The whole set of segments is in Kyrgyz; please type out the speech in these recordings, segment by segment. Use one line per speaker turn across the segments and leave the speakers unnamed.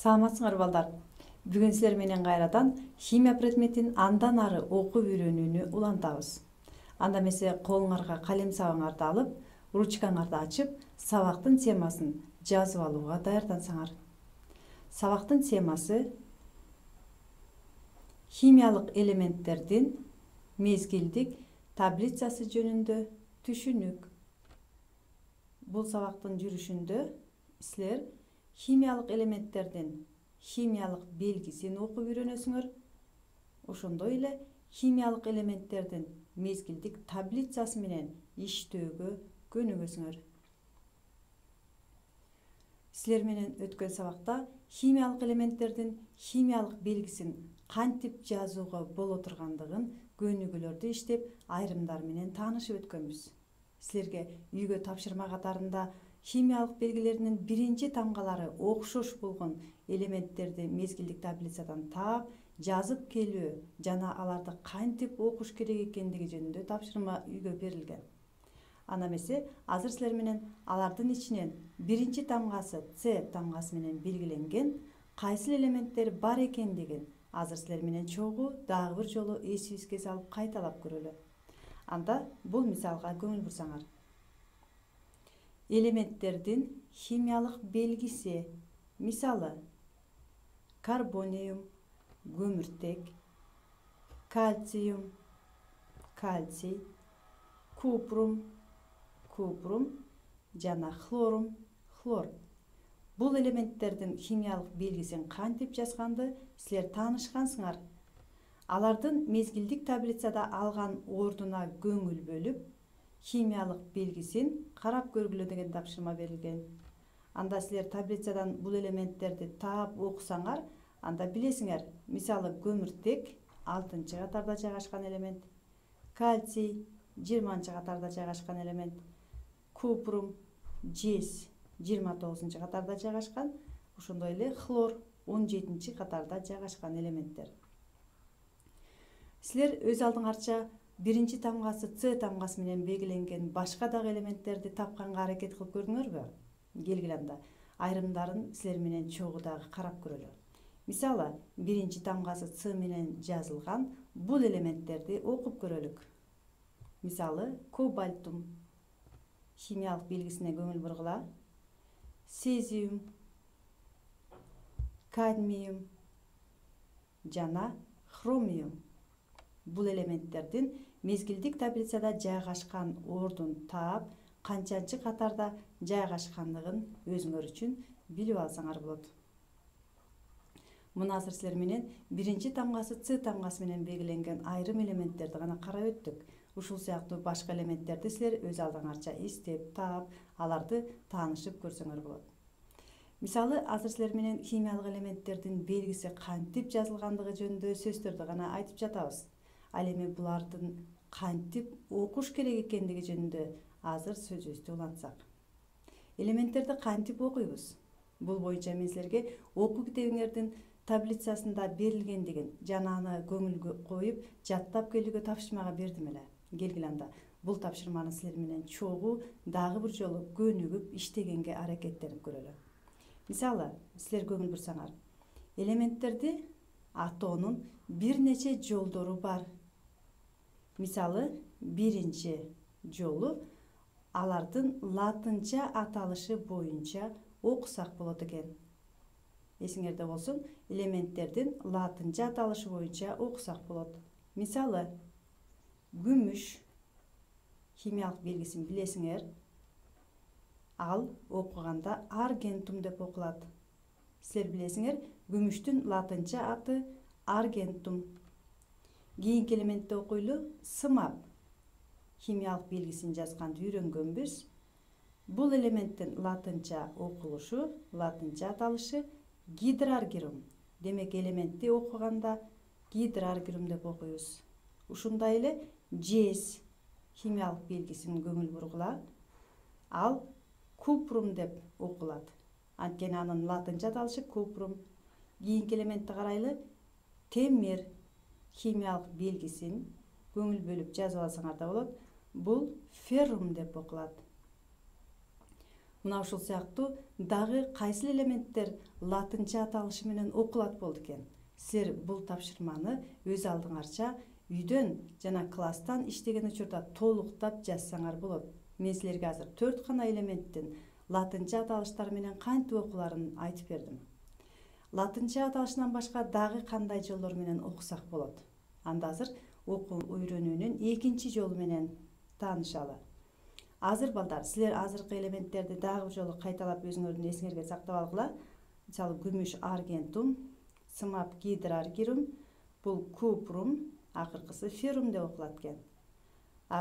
Саламатсыңар балдар. Бүгүн силер менен кайрадан химия предметин андан ары окуп үйрөнүүнү улантабыз. Анда эмесе колуңарга калем сабаңарды алып, ручкаңарды ачып, сабактын темасын жазып алууга даярдансаңар. Сабактын темасы химиялык элементтердин мезгилдик таблицасы жөнүндө түшүнүк. Бул сабактын жүрүшүндө силер химиялык элементтердин химиялык белгисин окуп үйрөнөсүңөр. Ошондой эле химиялык элементтердин мезгилдик таблицасы менен иштөөгө көнүгөсүңөр. Силер менен өткөн сабакта химиялык элементтердин химиялык белгисин кантип жазууга боло тургандыгын көнүгүүлөрдү иштеп, айрымдар менен таанышып өткөнбүз. Силерге үйгө тапшырма катарында химиялык белгилеринин биринчи тамгалары окшош болгон элементтерди мезгилдик таблицадан таап, жазып келүү жана аларды кантип окуш керек экендиги жөнүндө тапшырма үйгө берилген. Анда эмесе азыр силер менен алардын ичинен биринчи тамгасы С тамгасы менен белгиленген кайсыл элементтер бар экендигин азыр силер менен чогуу дагы бир жолу эсибизге салып кайталап көрөлү. Анда бул мисалга көңүл бурсаңар. Элементтердин химиялык белгиси. Мисалы: карбониум, көмүртек, кальциум, кальций, купрум, купрум жана хлорум, хлор. Бул элементтердин химиялык белгисин кантип жазганды силер таанышкансыңар. Алардын мезгилдик таблицада алган ордуна көңүл бөлүп, химиялык белгисин карап көргүлө деген тапшырма берилген. Анда силер таблицадан бул элементтерди таап окусаңар, анда билесиңер. Мисалы: көмүртек 6-катарда жайгашкан элемент, кальций 20-катарда жайгашкан элемент, купрум жез 29-катарда жайгашкан, ошондой эле хлор 17-катарда жайгашкан элементтер. Силер өз алдыңарча биринчи тамгасы С тамгасы менен белгиленген башка дагы элементтерди тапканга аракет кылып көрдүңөрбү? Келгиле анда айрымдарын силер менен чогуу дагы карап көрөлү. Мисалы: биринчи тамгасы С менен жазылган бул элементтерди окуп көрөлүк. Мисалы: кобальтум. Химиялык белгисине көңүл бургула. Цезиум, кадмиум жана хромиум. Бул элементтердин мезгилдик таблицада жайгашкан ордун таап, канчанчы катарда жайгашкандыгын өзүңөр үчүн билип алсаңар болот. Муну азыр силер менен биринчи тамгасы С тамгасы менен белгиленген айрым элементтерди гана карап өттүк. Ушул сыяктуу башка элементтерди силер өз алдыңарча эстеп, таап, аларды таанышып көрсөңөр болот. Мисалы, азыр силер менен химиялык элементтердин белгиси кантип жазылгандыгы жөнүндө сөздөрдү гана айтып жатабыз. Ал эми булардын кантип окуш керек экендиги жөнүндө азыр сөзүбүздү улантсак. Элементтерди кантип окуйбуз? Бул боюнча мен силерге окуу китебиңердин таблицасында берилгендигин жана аны көңүлгө коюп, жаттап келүүгө тапшырмага бердим эле. Келгиле анда бул тапшырманы силер менен чогуу дагы бир жолу көнүгүп иштегенге аракеттенип көрөлү. Мисалы, силер көңүл бурсаңар, элементтерди атоонун бир нече жолдору бар. Мисалы, биринчи жолу алардын латынча аталышы боюнча окусак болот экен. Эсиңерде болсун, элементтердин латынча аталышы боюнча окусак болот. Мисалы: күмүш. Химиялык белгисин билесиңер. Ал окуганда аргентум деп окулат. Силер билесиңер, күмүштүн латынча аты аргентум. Кийинки элементти окуйлу: сымап. Химиялык белгисин жазганды үйрөнгөнбүз. Бул элементтин латынча окулушу, латынча аталышы гидраргирум. Демек элементти окуганда гидраргирум деп окуйбуз. Ушундай эле жез. Химиялык белгисин көңүл бургула. Ал купрум деп окулат. Анткени анын латынча аталышы купрум. Кийинки элементти карайлы: темир. Химиялык белгисин көңүл бөлүп жазып алсаңар да болот. Бул феррум деп окулат. Мына ушул сыяктуу дагы кайсыл элементтер латынча аталышы менен окулат болду экен? Силер бул тапшырманы өз алдыңарча үйдөн жана класстан иштеген учурда толуктап жазсаңар болот. Мен силерге азыр 4 гана элементтин латынча аталыштары менен кантип окуларын айтып бердим. Латынча аталышынан башка дагы кандай жолдор менен окусак болот? Анда азыр окуу үйрөнүүнүн экинчи жолу менен таанышалы. Азыр балдар, силер азыркы элементтерди дагы бир жолу кайталап өзүңөрдүн эсиңерге сактап алгыла. Мисалы күмүш аргентум, сымап гидраргирум, бул купрум, акыркысы феррум деп окулат экен.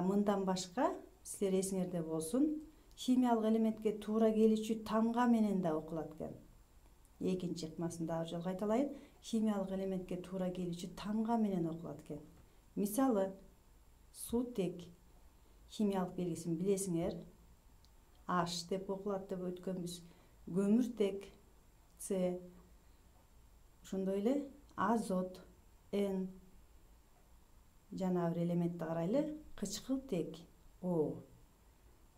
Мындан башка силер эсиңерде болсун, химиялык элементке туура келүүчү тамга менен да окулат экен. Экинчи ыкмасын дагы жолу кайталайын. Химиялык элементке туура келүүчү тамга менен окулат экен. Мисалы, суутек химиялык белгисин билесиңер. H деп окулат деп өткөнбүз. Көмүртек С. Ошондой эле азот N. Жана бир элементти карайлы. Кычкылтек O.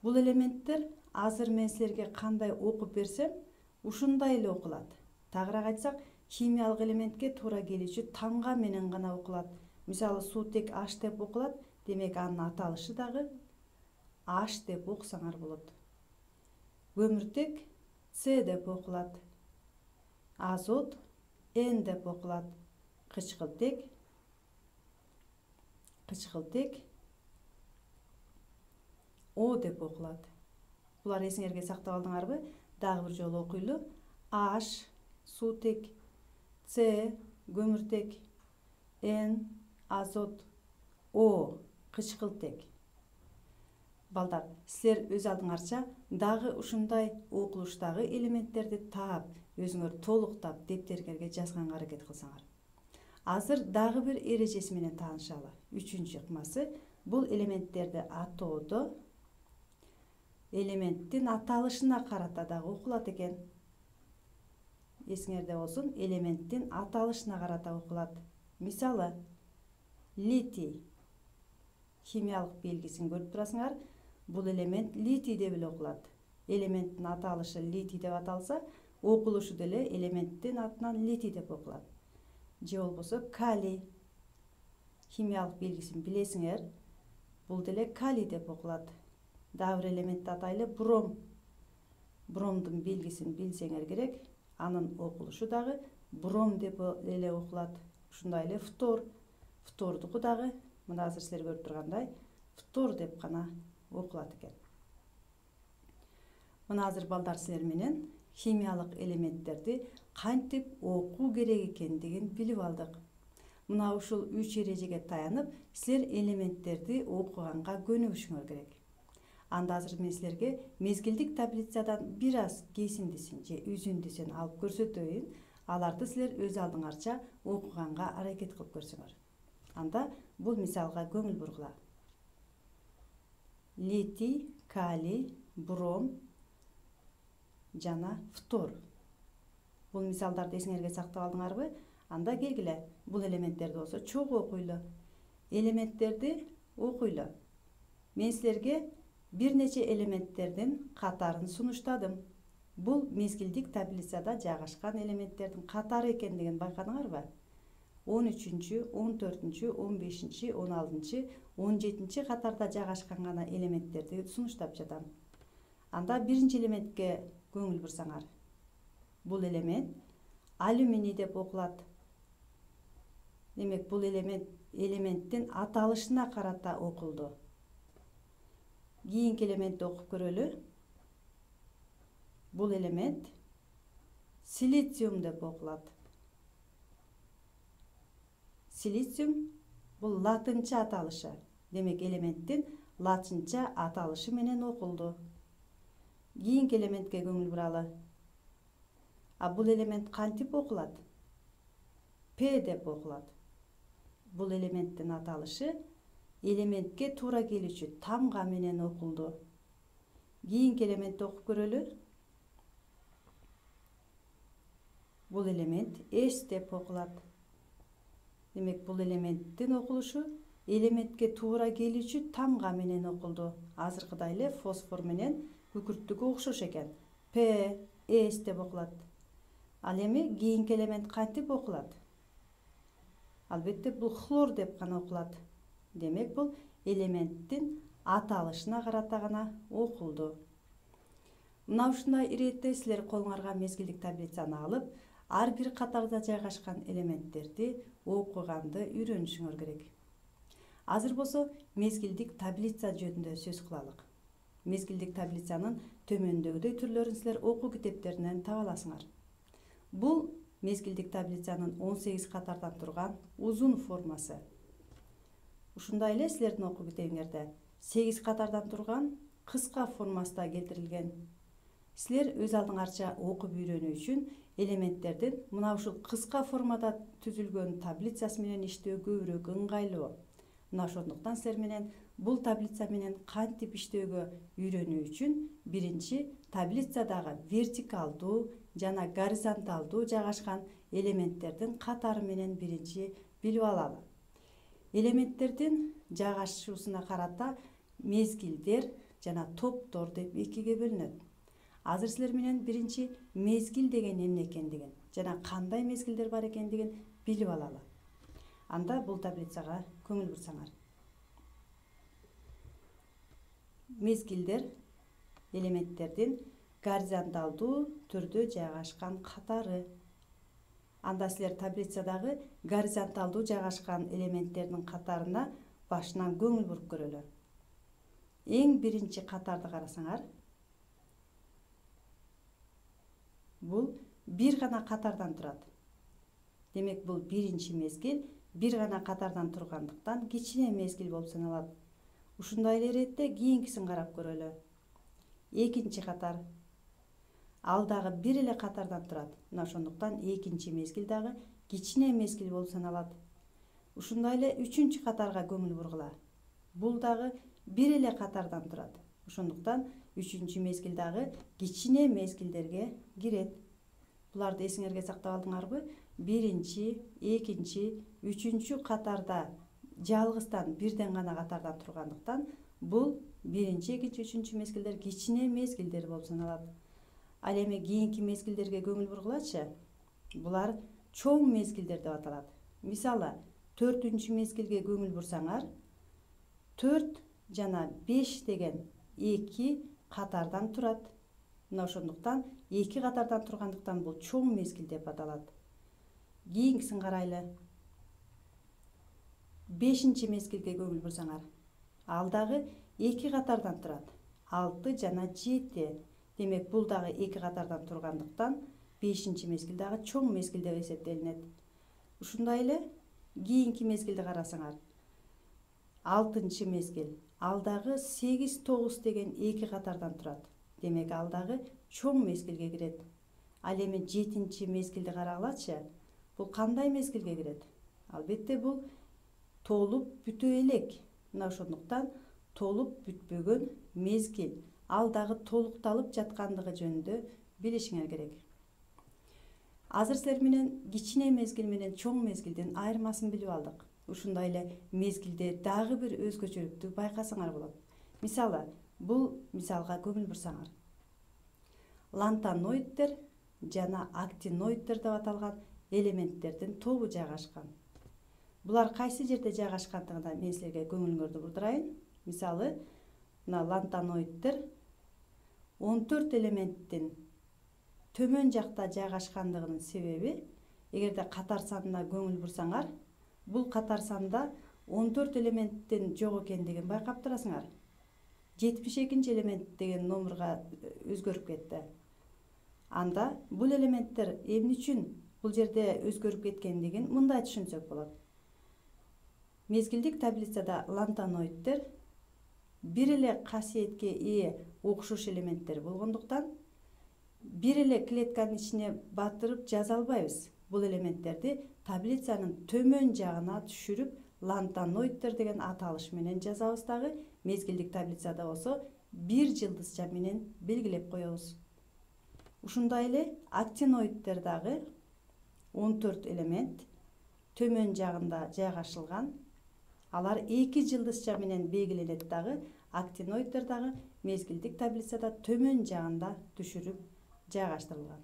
Бул элементтер азыр мен силерге кандай окуп берсем, ушундай эле окулат. Тагыраак айтсак, химиялык элементке туура келүүчү тамга менен гана окулат. Мисалы, суутек H деп окулат, демек анын аталышы дагы H деп окусаңар болот. Көмүртек С деп окулат. Азот N деп окулат. Кычкылтек O деп окулат. Булар эсиңерге сактап алдыңарбы? Дагы бир жолу окуйлу. H суутек, С көмүртек, N азот, O кычкылтек. Балдар, силер өз алдыңарча дагы ушундай окулуштагы элементтерди таап, өзүңөр толуктап дептериңерге жазганга аракет кылсаңар. Азыр дагы бир эрежеси менен таанышалы. Үчүнчү ыкмасы бул элементтерди атоодо элементтин аталышына карата дагы окулат экен. Эсиңерде болсун, элементтин аталышына карата окулат. Мисалы, литий химиялык белгисин көрүп турасыңар. Бул элемент литий деп эле окулат. Элементтин аталышы литий деп аталса, окулушу деле элементтин атынан литий деп окулат. Же болбосо калий химиялык белгисин билесиңер. Бул деле калий деп окулат. Дагы бир элементти атайлы, бром. Бромдун белгисин билсеңер керек. Анын окулушу дагы бром деп эле окулат. Ушундай эле фтор. Фтордуку дагы мына азыр силер көрүп тургандай фтор деп гана окулат экен. Мына азыр балдар силер менен химиялык элементтерди кантип окуу керек экендигин билип алдык. Мына ушул 3 эрежеге таянып, силер элементтерди окуганга көнүгүшүңөр керек. Анда азыр мен силерге мезгилдик таблицадан бир аз кесиндисин же үзүндүсүн алып көрсөтөйүн. Аларды силер өз алдыңарча окуганга аракет кылып көрсөңөр. Анда бул мисалга көңүл бургула. Литий, калий, бром жана фтор. Бул мисалдарды эсиңерге сактап алдыңарбы? Анда келгиле, бул элементтерди болсо чогуу окуйлу. Элементтерди окуйлу. Мен силерге бир нече элементтердин катарын сунуштадым. Бул мезгилдик таблицада жайгашкан элементтердин катары экендигин байкадыңарбы? 13-чү, 14-чү, 15-чи, 16-чы, 17-чи катарда жайгашкан гана элементтерди сунуштап жатам. Анда биринчи элементке көңүл бурсаңар. Бул элемент алюминий деп окулат. Демек, бул элементтин аталышына карата окулду. Кийинки элементти окуп көрөлү. Бул элемент силициум деп окулат. Силициум бул латынча аталышы. Демек, элементтин латынча аталышы менен окулду. Кийинки элементке көңүл буралы. Бул элемент кантип окулат? П деп окулат. Бул элементтин аталышы элементке туура келүүчү тамга менен окулду. Кийинки элементти окуп көрөлү. Бул элемент S деп окулат. Демек, бул элементтин окулушу элементке туура келүүчү тамга менен окулду. Азыркыдай эле фосфор менен күкүрттүкү окшош экен. П, С деп окулат. Ал эми кийинки элемент кантип окулат? Албетте бул хлор деп гана окулат. Демек бул элементтин аталышына карата гана окулду. Мына ушундай иретте силер колуңарга мезгилдик таблицаны алып, ар бир катарда жайгашкан элементтерди окуганды үйрөнүшүңөр керек. Азыр болсо мезгилдик таблица жөнүндө сөз кылалык. Мезгилдик таблицанын төмөндөгүдөй түрлөрүн силер окуу китептеринен таба аласыңар. Бул мезгилдик таблицанын 18 катардан турган узун формасы. Ушундай эле силердин окуу китебиңерде 8 катардан турган кыска формасында келтирилген. Силер өз алдыңарча окуп үйрөнүү үчүн элементтердин мына ушул кыска формада түзүлгөн таблицасы менен иштөө көбүрөөк ыңгайлуу. Мына ошондуктан силер менен бул таблица менен кантип иштөөгө үйрөнүү үчүн биринчи таблицадагы вертикалдуу жана горизонталдуу жайгашкан элементтердин катары менен биринчи билип алалы. Элементтердин жайгашуусуна карата мезгилдер жана топтор деп экиге бөлүнөт. Азыр силер менен биринчи мезгил деген эмне экендигин жана кандай мезгилдер бар экендигин билип алалы. Анда бул таблицага көңүл бурсаңар. Мезгилдер элементтердин горизонталдуу түрдө жайгашкан катары. Анда силер таблицадагы горизонталдуу жайгашкан элементтердин катарына башынан көңүл буруп көрөлү. Эң биринчи катарды карасаңар, бул бир гана катардан турат. Демек бул биринчи мезгил бир гана катардан тургандыктан кичине мезгил болуп саналат. Ушундай эле иретте кийинкисин карап көрөлү. Экинчи катар. Ал дагы бир эле катардан турат. Мына ошондуктан экинчи мезгил дагы кичине мезгил болуп саналат. Ушундай эле үчүнчү катарга көңүл бургула. Бул дагы бир эле катардан турат. Ошондуктан үчүнчү мезгил дагы кичине мезгилдерге кирет. Буларды эсиңерге сактап алдыңарбы? Биринчи, экинчи, үчүнчү катарда жалгыздан бирден гана катардан тургандыктан бул биринчи, экинчи, үчүнчү мезгилдер кичине мезгилдер болуп саналат. Ал эми кийинки мезгилдерге көңүл бургулачы. Булар чоң мезгилдер деп аталат. Мисалы, 4-үнчү мезгилге көңүл бурсаңар, 4 жана 5 деген 2 катардан турат. Мына ошондуктан 2 катардан тургандыктан бул чоң мезгил деп аталат. Кийинкисин карайлы. 5-чи мезгилге көңүл бурсаңар, ал дагы 2 катардан турат. 6 жана 7. Демек бул дагы 2 катардан тургандыктан 5-чи мезгил дагы чоң мезгил деп эсептелинет. Ушундай эле кийинки мезгилди карасаңар. 6-чы мезгил, ал дагы 8-9 деген 2 катардан турат. Демек ал дагы чоң мезгилге кирет. Ал эми 7-чи мезгилди карагылачы. Бул кандай мезгилге кирет? Албетте бул толуп бүтө элек. Мына ошондуктан толуп бүтпөгөн мезгил, ал дагы толукталып жаткандыгы жөнүндө билишиңер керек. Азыр силер менен кичине мезгил менен чоң мезгилдин айырмасын билип алдык. Ушундай эле мезгилде дагы бир өзгөчөлүктү байкасаңар болот. Мисалы, бул мисалга көңүл бурсаңар. Лантаноиддер жана актиноиддер деп аталган элементтердин тобу жайгашкан. Булар кайсы жерде жайгашкандыгына мен силерге көңүлүңөрдү бурдурайын. Мисалы, мына лантаноиддер 14 элементтин төмөн жакта жайгашкандыгынын себеби, эгерде катар санына көңүл бурсаңар, бул катар санда 14 элементтин жок экендигин байкап турасыңар. 72 элемент деген номерга өзгөрүп кетти. Анда бул элементтер эмне үчүн бул жерде өзгөрүп кеткендигин мындай түшүнсөк болот. Мезгилдик таблицада лантаноиддер бир эле касиетке ээ окшош элементтер болгондуктан бир эле клетканын ичине батырып жаза албайбыз. Бул элементтерди таблицанын төмөн жагына түшүрүп лантаноиддер деген аталыш менен жазабыз дагы, мезгилдик таблицада болсо бир жылдызча менен белгилеп коебуз. Ушундай эле актиноиддер дагы 14 элемент төмөн жагында жайгашылган. Алар 2 жылдызча менен белгиленет дагы. Актиноиддер дагы мезгилдик таблицада төмөн жагында түшүрүп жайгаштырылган.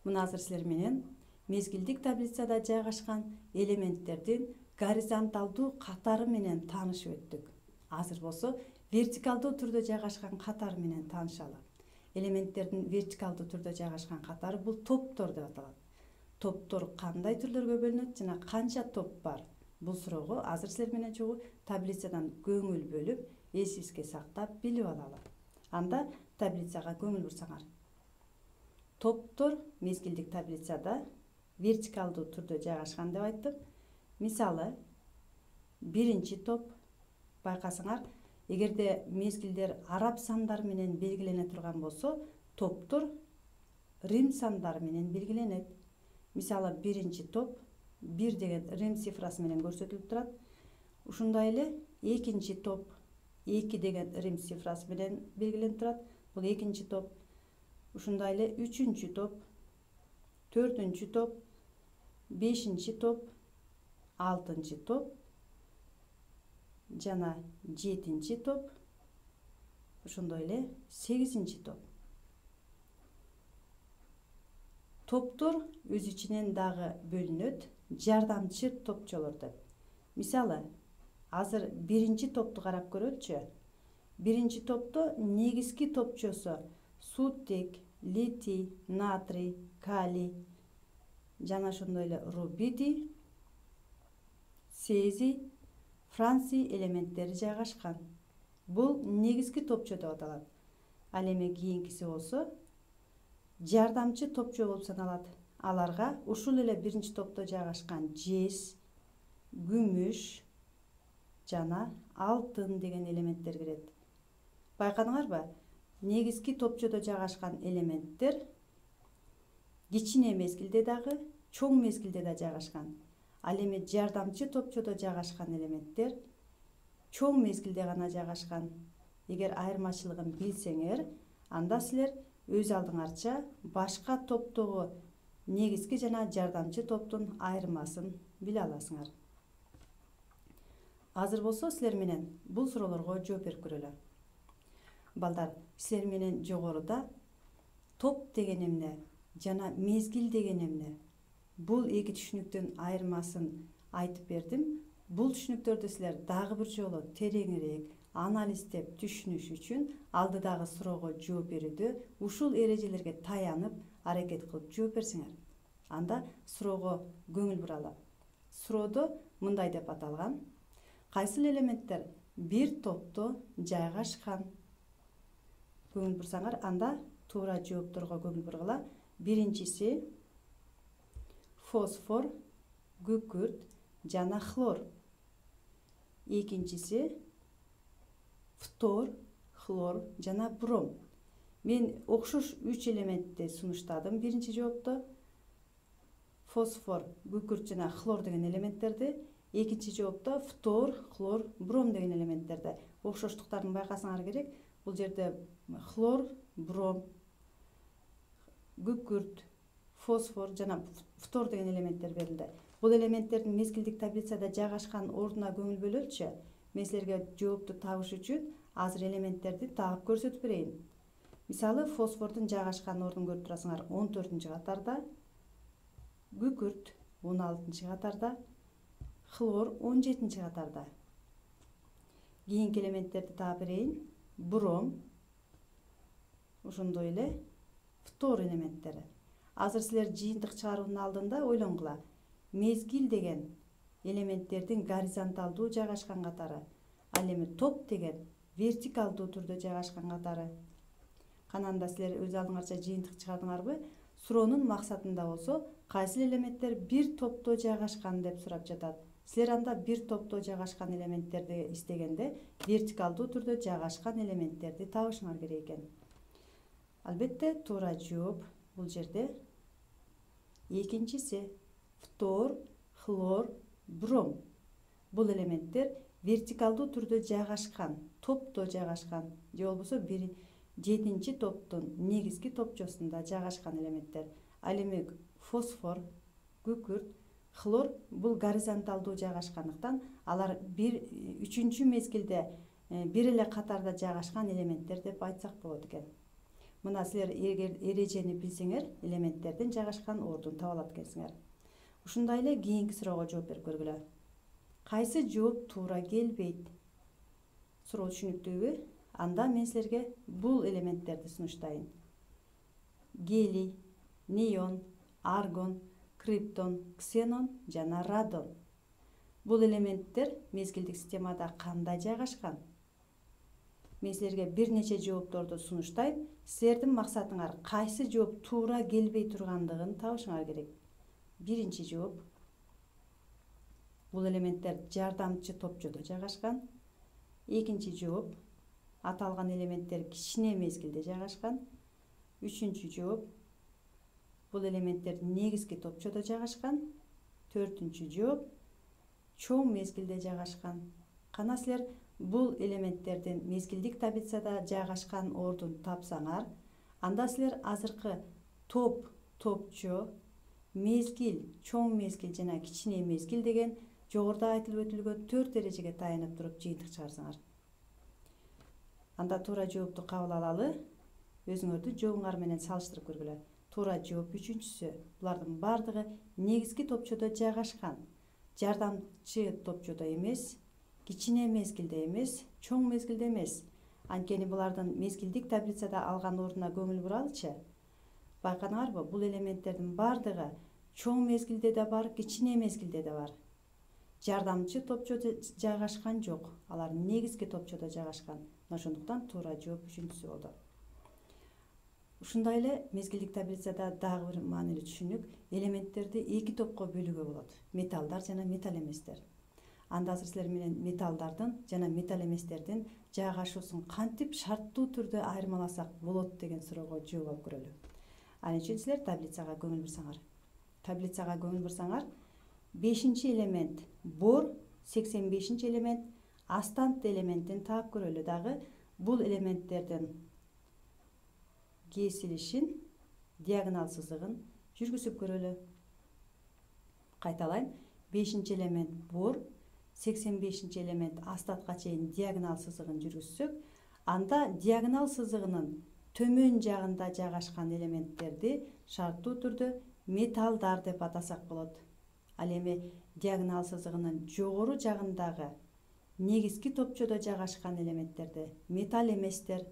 Мына азыр силер менен мезгилдик таблицада жайгашкан элементтердин горизонталдуу катары менен таанышып өттүк. Азыр болсо вертикалдуу түрдө жайгашкан катары менен таанышалы. Элементтердин вертикалдуу түрдө жайгашкан катары бул топтор деп аталат. Топтор кандай түрлөргө бөлүнөт жана канча топ бар? Бул суроого азыр силер менен чогуу таблицадан көңүл бөлүп, эсибизге сактап билип алалы. Анда таблицага көңүл бурсаңар. Топтор мезгилдик таблицада вертикалдуу түрдө жайгашкан деп айттым. Мисалы, биринчи топ байкасаңар, эгерде мезгилдер араб сандары менен белгилене турган болсо, топтор рим сандары менен белгиленет. Мисалы, биринчи топ 1 деген рим цифрасы менен көрсөтүлүп турат. Ушундай эле экинчи топ 2 деген рим цифрасы менен белгиленип турат. Бул экинчи топ. Ушундай эле үчүнчү топ, төртүнчү топ, бешинчи топ, алтынчы топ жана жетинчи топ, ошондой эле 8-чи топ. Топтор өз ичинен дагы бөлүнөт жардамчы топчолор деп. Мисалы, азыр биринчи топту карап көрөлүчү. Биринчи топто негизги топчосу суттек, литий, натрий, калий жана ошондой эле рубидий, цезий, франций элементтери жайгашкан. Бул негизги топчо деп аталат. Ал эми кийинкиси болсо жардамчы топчо болуп саналат. Аларга ушул эле биринчи топто жайгашкан жез, күмүш жана алтын деген элементтер кирет. Байкадыңарбы? Негизги топчодо жайгашкан элементтер кичине мезгилде дагы, чоң мезгилде да жайгашкан. Ал эми жардамчы топчодо жайгашкан элементтер чоң мезгилде гана жайгашкан. Эгер айырмачылыгын билсеңер, анда силер өз алдыңарча башка топтогу негизги жана жардамчы топтун айырмасын биле аласыңар. Азыр болсо силер менен бул суроолорго жооп берип көрөлү. Балдар, силер менен жогоруда топ деген эмне жана мезгил деген эмне? Бул эки түшүнүктүн айырмасын айтып бердим. Бул түшүнүктөрдү силер дагы бир жолу тереңирээк анализдеп түшүнүш үчүн алдыдагы суроого жооп берүүдө ушул эрежелерге таянып аракет кылып жооп берсеңер. Анда суроого көңүл буралы. Суроодо мындай деп аталган: кайсыл элементтер бир топто жайгашкан? Көңүл бурсаңар, анда туура жоопторго көңүл бургула. Биринчиси фосфор, күкүрт жана хлор. Экинчиси фтор, хлор жана бром. Мен окшош 3 элементти сунуштадым биринчи жоопто. Фосфор, күкүрт жана хлор деген элементтерди. Экинчи жоопто фтор, хлор, бром деген элементтерди. Окшоштуктарын байкасаңар керек. Бул жерде хлор, бром, күкүрт, фосфор жана фтор деген элементтер берилди. Бул элементтердин мезгилдик таблицада жайгашкан ордуна көңүл бөлөлүчү. Мен силерге жоопту табыш үчүн азыр элементтерди таап көрсөтүп берейин. Мисалы, фосфордун жайгашкан ордун көрүп турасыңар 14-катарда, күкүрт 16-катарда, хлор 17-катарда. Кийинки элементтерди таап берейин. Бром, ошондой эле фтор элементтери. Азыр силер жыйынтык чыгаруунун алдында ойлонгула. Мезгил деген элементтердин горизонталдуу жайгашкан катары. Ал эми топ деген вертикалдуу түрдө жайгашкан катары. Кананда силер өз алдыңарча жыйынтык чыгардыңарбы? Суроонун максатында болсо, кайсыл элементтер бир топто жайгашкан деп сурап жатат. Силер анда бир топто жайгашкан элементтерди издегенде вертикалдуу түрдө жайгашкан элементтерди табышыңар керек экен. Албетте, туура жооп бул жерде экинчиси фтор, хлор, бром. Бул элементтер вертикалдуу түрдө жайгашкан, топто жайгашкан, же болбосо 7-чи топтун негизги топчосунда жайгашкан элементтер. Ал эми фосфор, күкүрт, Хлор бул горизонталдуу жайгашкандыктан алар үчүнчү мезгилде бир эле катарда жайгашкан элементтер деп айтсак болот экен. Мына силер эгер эрежени билсеңер, элементтердин жайгашкан ордун таба алат экенсиңер. Ушундай эле кийинки суроого жооп берип көргүлө. Кайсы жооп туура келбейт? Суроо түшүнүктүүбү? Анда мен силерге бул элементтерди сунуштайын. Гелий, неон, аргон, криптон, ксенон жана радон. Бул элементтер мезгилдик системада кандай жайгашкан? Мен силерге бир нече жоопторду сунуштайм. Силердин максатыңар кайсы жооп туура келбей тургандыгын табышыңар керек. Биринчи жооп. Бул элементтер жардамчы топчодо жайгашкан. Экинчи жооп. Аталган элементтер кичине мезгилде жайгашкан. Үчүнчү жооп. Бул элементтер негизги топчодо жайгашкан. Төртүнчү жооп. Чоң мезгилде жайгашкан. Кана силер бул элементтердин мезгилдик таблицада жайгашкан ордун тапсаңар, анда силер азыркы топ, топчо, мезгил, чоң мезгил жана кичине мезгил деген жогоруда айтылып өтүлгөн 4 эрежеге таянып туруп жыйынтык чыгарсаңар. Анда туура жоопту кабыл алалы, өзүңөрдүн жообуңар менен салыштырып көргүлө. Туура жооп үчүнчүсү. Булардын бардыгы негизги топчодо жайгашкан. Жардамчы топчодо эмес, кичине мезгилде эмес, чоң мезгилде эмес. Анткени булардын мезгилдик таблицада алган ордуна көңүл буралычы. Байкадыңарбы, бул элементтердин бардыгы чоң мезгилде да бар, кичине мезгилде да бар. Жардамчы топчодо жайгашкан жок. Алар негизги топчодо жайгашкан. Ошондуктан туура жооп үчүнчүсү болду. Ушундай эле мезгилдик таблицада дагы бир маанилүү түшүнүк, элементтерди эки топко бөлүүгө болот. Металлдар жана металл эместер. Анда азыр силер менен металлдардын жана металл эместердин жайгашуусун кантип шарттуу түрдө айырмаласак болот деген суроого жооп алып көрөлү. Ал үчүн силер таблицага көңүл бурсаңар. Таблицага көңүл бурсаңар, 5-чи элемент бор, 85-чи элемент астант элементин таап көрөлү дагы. Бул элементтердин кесилишин, диагонал сызыгын жүргүзүп көрөлү. Кайталайм, 5-чи элемент бор, 85-чи элемент астатка чейин диагонал сызыгын жүргүзсөк, анда диагонал сызыгынын төмөн жагында жайгашкан элементтерди шарттуу түрдө металлдар деп атасак болот. Ал эми диагонал сызыгынын жогору жагындагы негизги топчодо жайгашкан элементтерди металл эместер,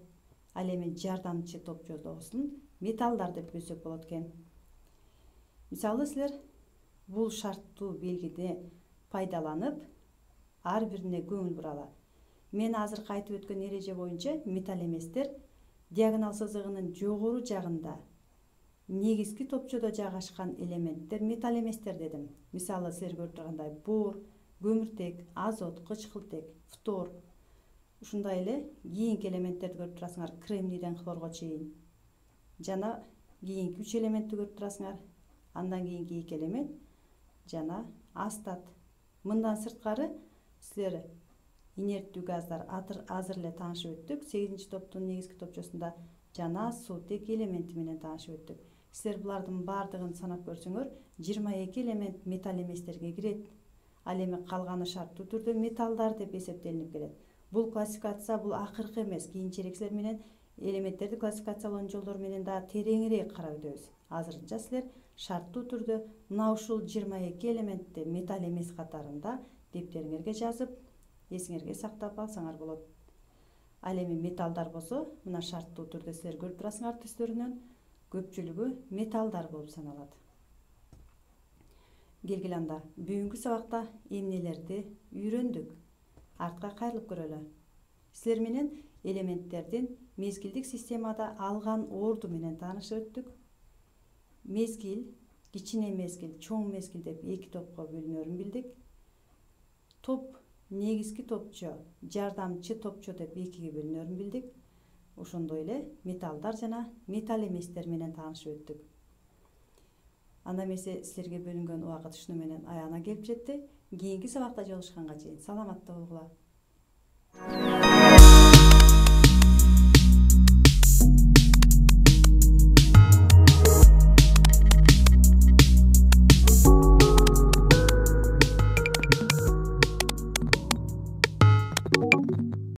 ал эми жардамчы топчодосун металлдар деп билсек болот экен. Мисалы силер бул шарттуу белгиди пайдаланып ар бирине көңүл буралы. Мен азыркы айтып өткөн эреже боюнча металл эместер диагонал сызыгынын жогору жагында негизги топчодо жайгашкан элементтер металл эместер дедим. Мисалы силер көрүп тургандай бор, көмүртек, азот, кычкылтек, фтор. Ушундай эле кийинки элементтерди көрүп турасыңар, кремнийден хлорго чейин. Жана кийинки 3 элементти көрүп турасыңар. Андан кийинки 2 элемент жана астат. Мындан сырткары силер инерттүү газдар азыр эле таанышып өттүк. 8-чи топтун негизги топчосунда жана суутек элементи менен таанышып өттүк. Силер булардын бардыгын санап көрсөңөр, 22 элемент металл эместерге кирет. Ал эми калганы шарттуу түрдө металлдар деп эсептелинип келет. Бул классификация бул акыркы эмес. Кийинчерээк силер менен элементтерди классификациялоонун жолдору менен да тереңирээк карап өтөбүз. Азырынча силер шарттуу түрдө мына ушул 22 элементти металл эмес катарында дептериңерге жазып, эсиңерге сактап алсаңар болот. Ал эми металлдар болсо, мына шарттуу түрдө силер көрүп турасыңар түстөрүнөн, көпчүлүгү металлдар болуп саналат. Келгиле анда бүгүнкү сабакта эмнелерди үйрөндүк? Артка кайрылып көрөлү. Силер менен элементтердин мезгилдик системада алган орду менен таанышып өттүк. Мезгил, кичине мезгил, чоң мезгил деп эки топко бөлүнөрүн билдик. Топ, негизги топчо, жардамчы топчо деп экиге бөлүнөрүн билдик. Ошондой эле металлдар жана металл эместер менен таанышып өттүк. Анда эмесе силерге бөлүнгөн убакыт ушуну менен аягына келип жетти. Кийинки сабакта жолугушканга чейин саламатта болгула.